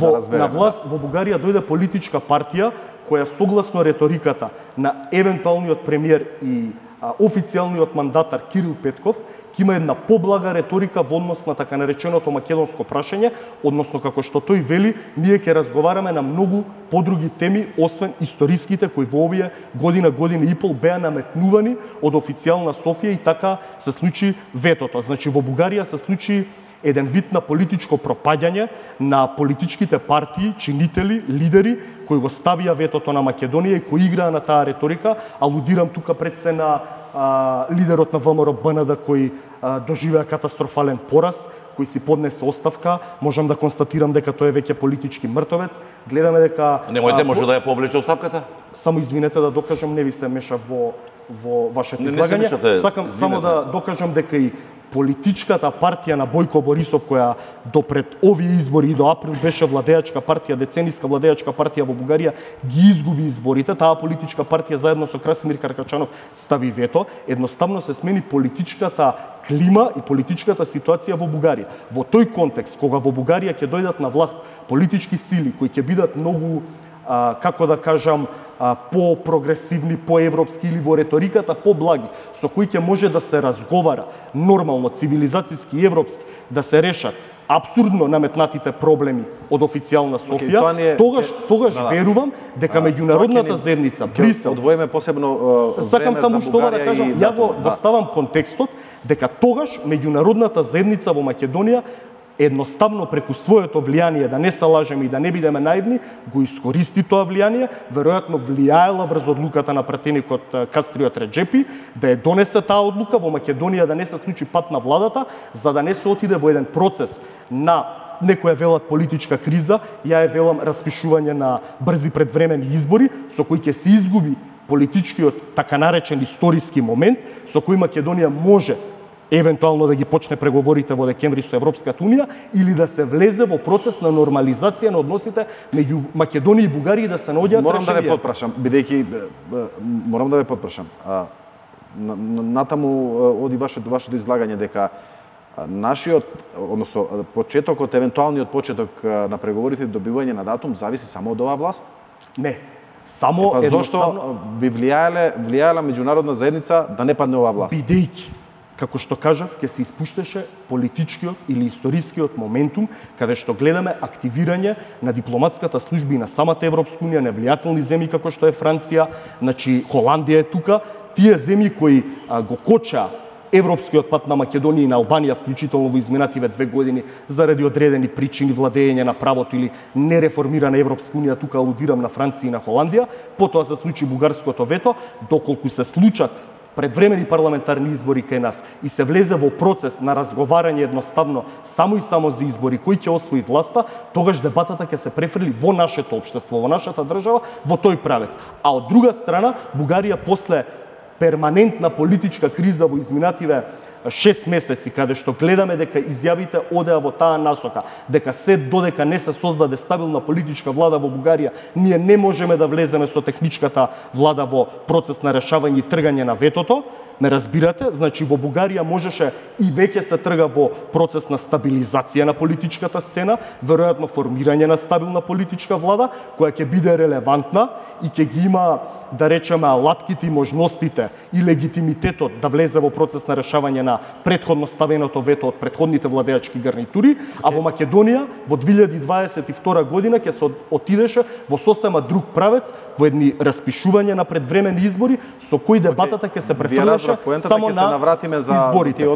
На власт во Бугарија дојде политичка партија која согласно реториката на евентуалниот премиер и официјалниот мандатар Кирил Петков ќе има една поблага реторика во однос на така нареченото македонско прашање, односно како што тој вели, ние ќе разговараме на многу подруги теми освен историските кои во овие година и пол беа наметнувани од официјална Софија и така се случи ветото. Значи во Бугарија се случи еден вид на политичко пропаѓање на политичките партии, чинители, лидери кои го ставија ветото на Македонија и кои играа на таа реторика. Алудирам тука пред се на лидерот на ВМРО БНД кој доживеа катастрофален пораз, кој си поднесе оставка. Можам да констатирам дека тој е веќе политички мртовец. Гледаме дека Немојте, може да ја повлече оставката? Само извинете да докажам, не ви се меша во вашето излагање. Сакам само да докажам дека и политичката партија на Бојко Борисов, која до пред овие избори и до април беше владеачка партија, децениска владеачка партија во Бугарија, ги изгуби изборите. Таа политичка партија заедно со Красимир Каракачанов стави вето. Едноставно се смени политичката клима и политичката ситуација во Бугарија. Во тој контекст, кога во Бугарија ќе дојдат на власт политички сили кои ќе бидат многу како да кажам, по-прогресивни, по-европски или во реториката по-благи, со кои ќе може да се разговара нормално, цивилизацијски и европски, да се решат апсурдно наметнатите проблеми од официјална Софија, тогаш верувам дека меѓународната заедница, Брисел, одвоиме посебно сакам само што да кажам, ја го доставам контекстот дека тогаш меѓународната заедница во Македонија едноставно преку своето влијание, да не се лажеме и да не бидеме наивни, го искористи тоа влијание, веројатно влијаела врз одлуката на пратеникот Кастриот Реджепи, да ја донесе таа одлука во Македонија да не се случи пат на владата, за да не се отиде во еден процес на некоја велат политичка криза, ја е велам распишување на брзи предвремени избори, со кои ќе се изгуби политичкиот така наречен историски момент, со кој Македонија може евентуално да ги почне преговорите во декември со Европската Унија или да се влезе во процес на нормализација на односите меѓу Македонија и Бугарија и да се наоѓаат решенија. Морам да ве потпрашам, бидејќи морам да ве потпрашам. Натаму оди вашето излагање дека нашиот, односно почетокот, евентуалниот почеток на преговорите и добивање на датум зависи само од оваа власт? Не. Само зошто би влијаела меѓународна заедница да не падне оваа власт? Бидејќи, како што кажав, ќе се испуштеше политичкиот или историскиот моментум, каде што гледаме активирање на дипломатската служба и на самата Европска Унија, невлијателни земји како што е Франција, значи Холандија е тука, тие земји кои го коча европскиот пат на Македонија и на Албанија, вклучително во изминативе 2 години, заради одредени причини, владење на правото или нереформирана Европска Унија, тука алудирам на Франција и на Холандија, потоа се случи бугарското вето, доколку се случат предвремени парламентарни избори кај нас и се влезе во процес на разговарање едноставно само и само за избори кој ќе освои власта, тогаш дебатата ќе се префрли во нашето општество, во нашата држава, во тој правец. А од друга страна, Бугарија после перманентна политичка криза во изминативе 6 месеци, каде што гледаме дека изјавите одеа во таа насока, дека се додека не се создаде стабилна политичка влада во Бугарија, ние не можеме да влеземе со техничката влада во процес на решавање и тргање на ветото. Ме разбирате? Значи во Бугарија можеше и веќе се трга во процес на стабилизација на политичката сцена, веројатно формирање на стабилна политичка влада, која ќе биде релевантна и ќе ги има, да речеме, алатките и можностите и легитимитетот да влезе во процес на решавање на претходно ставеното вето од претходните владеачки гарнитури, а во Македонија во 2022 година ќе се отидеше во сосема друг правец, во едни распишување на предвремени избори, со кои дебатата ќе се префрлеше само на изборите.